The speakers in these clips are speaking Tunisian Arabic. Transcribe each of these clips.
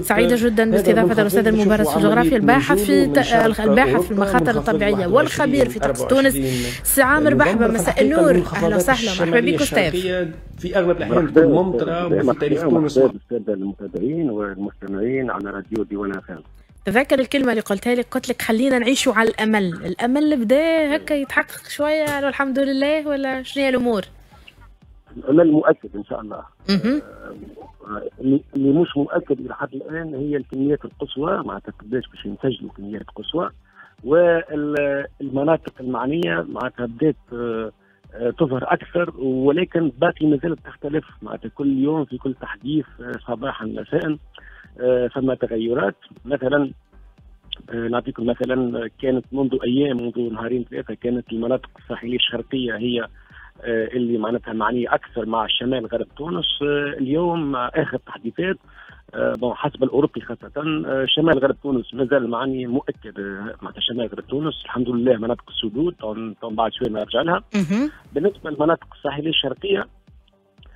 سعيدة جدا باستضافة الأستاذ المبارز في الجغرافيا، الباحث في المخاطر الطبيعية والخبير في طقس تونس، سي عامر بحبة. مساء النور، أهلا وسهلا، مرحبا بك أستاذ. في أغلب الأحيان تكون ممطرة وفي تاريخ تونس. السادة المتابعين والمستمعين على راديو ديوان FM. تذكر الكلمة اللي قلتها لك، قلت لك خلينا نعيشوا على الأمل، الأمل بدا هكا يتحقق شوية والحمد لله، ولا شنو هي الأمور؟ الأمل مؤكد إن شاء الله. اللي مش مؤكد إلى حد الآن هي الكميات القصوى، معناتها قداش باش نسجلوا كميات قصوى، والمناطق المعنية معناتها بدات تظهر أكثر، ولكن باقي ما زالت تختلف، معناتها كل يوم في كل تحديث صباحا مساء فما تغيرات. مثلا نعطيكم مثلا، كانت منذ أيام، منذ نهارين ثلاثة، كانت المناطق الساحلية الشرقية هي اللي معناتها معنية أكثر مع الشمال غرب تونس. اليوم آخر تحديثات حسب الأوروبي خاصة، شمال غرب تونس مازال معني مؤكد، معناتها شمال غرب تونس الحمد لله مناطق السدود بعد شوية نرجع لها. بالنسبة للمناطق الساحلية الشرقية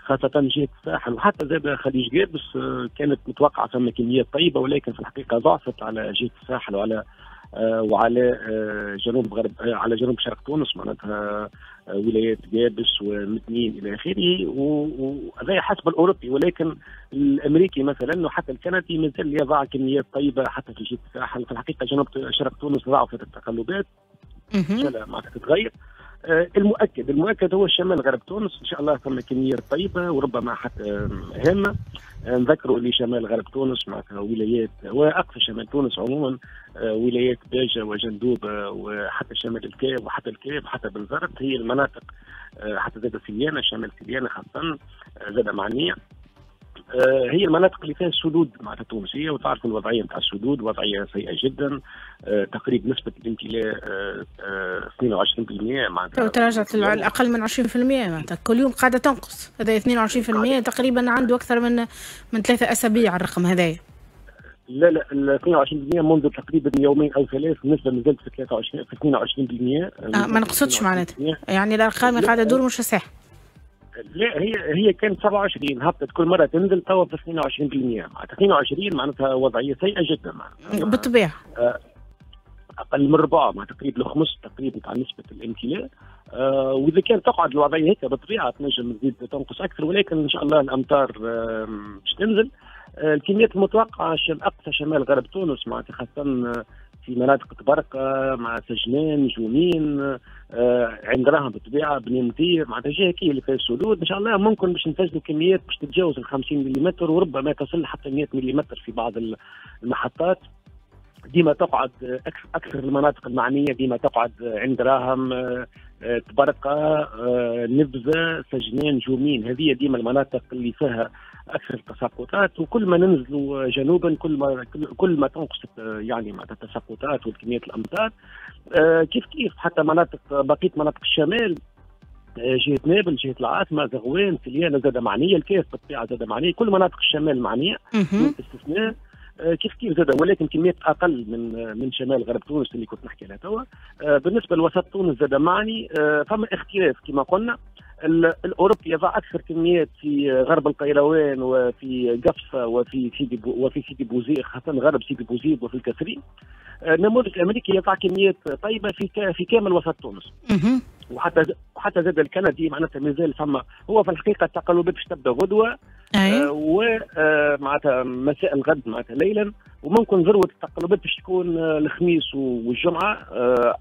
خاصة جهة الساحل وحتى زاد خليج قابس، كانت متوقعة ثم كميات طيبة، ولكن في الحقيقة ضعفت على جهة الساحل وعلى جنوب غرب، على جنوب شرق تونس، معناتها ولايات قابس ومدنين الى اخره، وهذا حسب الاوروبي. ولكن الامريكي مثلا وحتى الكندي مازال يضع كميات طيبة حتى في جهة الساحل. في الحقيقة جنوب شرق تونس ضعفت التقلبات، معناتها تتغير. المؤكد هو الشمال غرب تونس ان شاء الله ثم كميات طيبة وربما حتى هامة. نذكروا اللي شمال غرب تونس معناتها ولايات، واقصى شمال تونس عموما ولايات باجه وجندوبه وحتى شمال الكاف وحتى الكاف وحتى بنزرت، هي المناطق حتى زاد سليانه، شمال سليانه خاصة زاد معنية، هي المناطق اللي فيها السدود معناتها التونسية. وتعرفوا الوضعية نتاع السدود وضعية سيئه جدا، تقريبا نسبه الامتلاء 22% معناتها تراجعت اقل من 20%، معناتها كل يوم قاعدة تنقص. هذا 22% تقريبا عنده اكثر من 3 اسابيع الرقم هذايا. لا 22% منذ تقريبا يومين او ثلاث، النسبة مازالت في 23 في 22%. ما نقصدش معناتها، يعني الارقام قاعدة تدور مش صح. لا هي كانت 27، هبطت كل مرة تنزل، توا في 22%، معناتها 22 معناتها وضعية سيئه جدا معناتها بالطبيعة، اقل من ربع، معناتها تقريبا الخمس تقريبا تاع نسبه الامتلاء. واذا كان تقعد الوضعية هيك بالطبيعة تنجم تزيد تنقص اكثر، ولكن ان شاء الله الامطار باش تنزل. الكميات المتوقعة اقصى شمال غرب تونس معناتها خاصة في مناطق تبرقه مع سجنان، جومين، عند راهم بالطبيعة، بني مطير، معناتها جهة كي اللي فيها السدود ان شاء الله ممكن باش نسجلوا كميات باش تتجاوز ال 50 ملم وربما تصل حتى 100 ملم في بعض المحطات. ديما تقعد اكثر المناطق المعنية ديما تقعد عند راهم، تبرقه، نبذه، سجنان، جومين، هذه ديما المناطق اللي فيها اكثر التساقطات. وكل ما ننزلوا جنوبا كل ما تنقص يعني معناتها التساقطات والكميات الامطار. كيف كيف حتى مناطق بقية مناطق الشمال، جهة نابل، جهة العاصمة، زغوان، سليانه زاد معنية، الكاف بالطبيعة زاد معنية، كل مناطق الشمال معنية دون استثناء. كيف كيف زاد، ولكن كميات اقل من شمال غرب تونس اللي كنت نحكي عليها توا. بالنسبة لوسط تونس زاد معني، فما اختلاف كما قلنا. الاوروبي يضع اكثر كميات في غرب القيروان وفي قفصه وفي سيدي بوزيد، خاصة غرب سيدي بوزيد وفي الكثرين. النموذج الامريكي يضع كميات طيبة في كامل وسط تونس. وحتى زاد الكندي معناتها مازال فما، هو في الحقيقة التقلبات باش تبدا غدوه ومعناتها مساء الغد معناتها ليلا، وممكن ذروة التقلبات باش تكون الخميس والجمعة.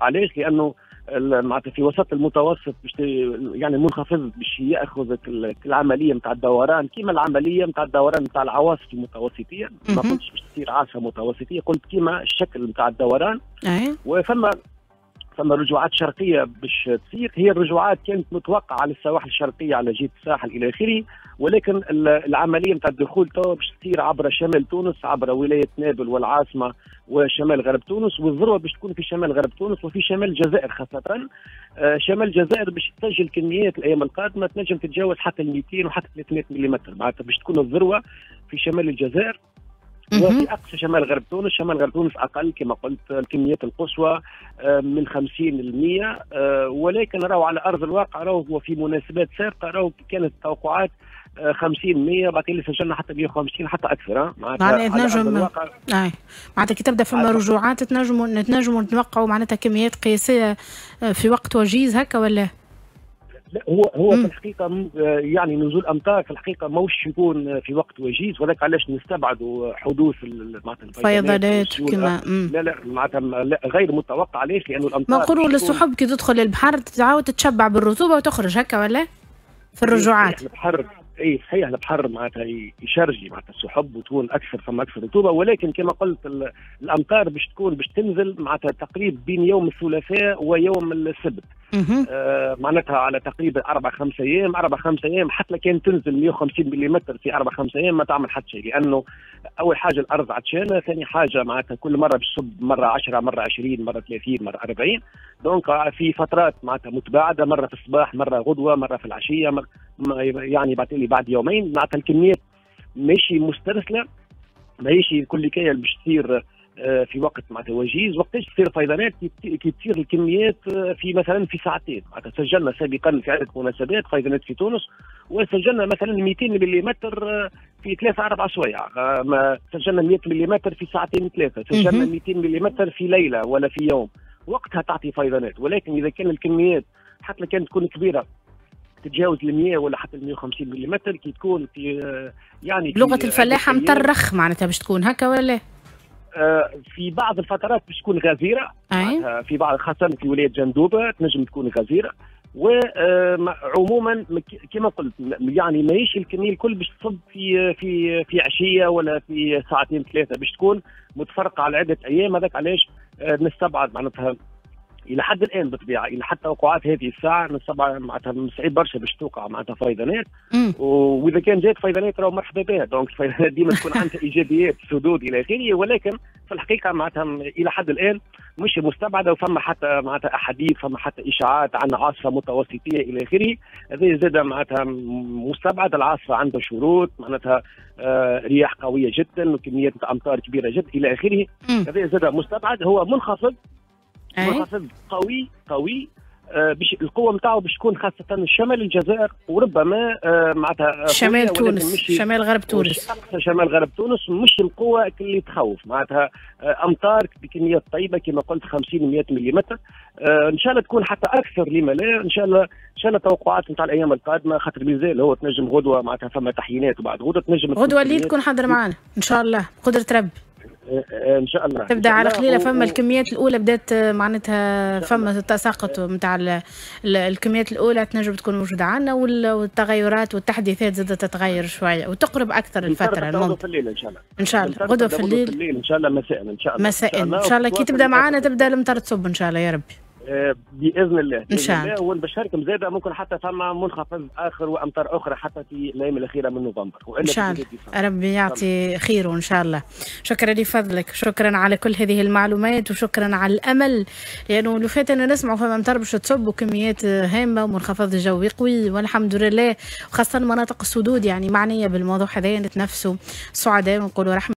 علاش؟ لانه معناتها في وسط المتوسط باش يعني المنخفض باش ياخذ العملية نتاع الدوران، كيما العملية نتاع الدوران نتاع العواصف المتوسطيه. ما قلتش باش تصير عاصفة متوسطيه، قلت كيما الشكل نتاع الدوران. وفما رجوعات شرقية باش تصير، هي الرجوعات كانت متوقعه على السواحل الشرقية على جهة الساحل الى اخره، ولكن العملية نتاع الدخول تو باش تصير عبر شمال تونس، عبر ولاية نابل والعاصمه وشمال غرب تونس، والذروه باش تكون في شمال غرب تونس وفي شمال الجزائر خاصة. شمال الجزائر باش تسجل كميات الايام القادمة تنجم تتجاوز حتى 200 وحتى 300 ملم، معناتها باش تكون الذروة في شمال الجزائر. وفي اقصى شمال غرب تونس، شمال غرب تونس اقل كما قلت الكميات القصوى من 50 ل 100، ولكن راهو على ارض الواقع راهو في مناسبات سابقه راهو كانت التوقعات 50 100، بعد اللي سجلنا حتى 150 حتى اكثر. معناها تنجم معناتها كي تبدا فما رجوعات تنجموا نتوقعوا معناتها كميات قياسية في وقت وجيز هكا ولا؟ لا، هو في الحقيقة يعني نزول امطار في الحقيقة ماهوش يكون في وقت وجيز، ولكن علاش نستبعدوا حدوث معناتها الفيضانات كما لا معناتها غير متوقع. علاش؟ لانه الامطار ما نقولوا للسحب كي تدخل البحر تعاود تتشبع بالرطوبه وتخرج هكا ولا؟ في الرجوعات البحر، اي صحيح، البحر معناتها يشرجي معناتها السحب وتكون اكثر، فما اكثر رطوبة، ولكن كما قلت الامطار باش تكون باش تنزل معناتها تقريبا بين يوم الثلاثاء ويوم السبت. معناتها على تقريبا 4 5 ايام، 4 5 ايام، حتى كان تنزل 150 ملم في 4 5 ايام ما تعمل حتى شيء، لانه اول حاجة الارض عطشانة، ثاني حاجة معناتها كل مرة باش تصب مرة 10 مرة 20 مرة 30 مرة 40، donc في فترات معناتها متباعدة، مرة في الصباح، مرة غدوه، مرة في العشية، مرة يعني بعد بعد يومين. معناتها الكميات ماشي مسترسله، ماهيش كل كايه باش تصير في وقت معناتها وجيز. وقتاش تصير فيضانات؟ كي تصير الكميات في مثلا في ساعتين. معناتها سجلنا سابقا في عده مناسبات فيضانات في تونس، وسجلنا مثلا 200 ملم في 3 4 سوايع، ما سجلنا 100 ملم في ساعتين ثلاثه، سجلنا 200 ملم في ليلة ولا في يوم، وقتها تعطي فيضانات. ولكن اذا كان الكميات حتى كانت تكون كبيرة تتجاوز ال 100 ولا حتى ال 150 ملم، كي تكون في يعني لغة الفلاحة مطرخ معناتها باش تكون هكا ولا؟ في بعض الفترات باش تكون غزيرة، في بعض خاصة في ولاية جندوبه تنجم تكون غزيرة، وعموما كما قلت يعني ماهيش الكمية الكل باش تصب في عشية ولا في ساعتين ثلاثه، باش تكون متفرقة على عده ايام. هذاك علاش نستبعد معناتها الى حد الان بالطبيعة، الى حتى توقعات هذه الساعة نستبعد معناتها صعيب برشا باش توقع معناتها فيضانات، واذا كان جات فيضانات راهو مرحبا بها. donc الفيضانات ديما تكون عندها ايجابيات، سدود الى اخره، ولكن في الحقيقة معناتها الى حد الان مش مستبعده. وفما حتى معناتها احاديث، فما حتى اشاعات عن عاصفة متوسطيه الى اخره، هذا زاد معناتها مستبعد. العاصفة عندها شروط، معناتها رياح قوية جدا وكميات امطار كبيرة جدا الى اخره، هذا زاد مستبعد. هو منخفض، منخفض قوي قوي، باش القوة نتاعو باش تكون خاصة شمال الجزائر وربما معناتها شمال تونس، شمال غرب تونس، شمال غرب تونس، مش القوة اللي تخوف. معناتها امطار بكميات طيبة كما قلت 50 100 ملم، ان شاء الله تكون حتى اكثر، لما لا. ان شاء الله ان شاء الله توقعات نتاع الايام القادمه، خاطر مازال هو تنجم غدوه معناتها فما تحيينات، وبعد غدوه تنجم غدوه اللي تكون حاضر معنا ان شاء الله بقدره ربي. ان شاء الله. تبدا على قليله، فما الكميات الاولى بدات معناتها فما التساقط نتاع الكميات الاولى تنجم تكون موجودة عندنا، والتغيرات والتحديثات زادت تتغير شوية وتقرب اكثر الفترة. غدوه في الليل ان شاء الله. ان شاء الله غدوه في الليل، في الليل ان شاء الله، مساء ان شاء الله. مساء ان شاء الله كي تبدا معنا تبدا المطر تصب ان شاء الله يا ربي. باذن الله. ان شاء الله. ونبشركم زاده ممكن حتى ثم منخفض اخر وامطار اخرى حتى في الايام الاخيرة من نوفمبر. ان شاء الله ربي يعطي خيره ان شاء الله. شكرا لفضلك، شكرا على كل هذه المعلومات وشكرا على الامل، لانه لو فات انا نسمعوا فما امطار باش تصب وكميات هامة ومنخفض جوي قوي، والحمد لله، وخاصة مناطق السدود يعني معنية بالموضوع هذا، نتنفسوا سعداء ونقولوا رحمه.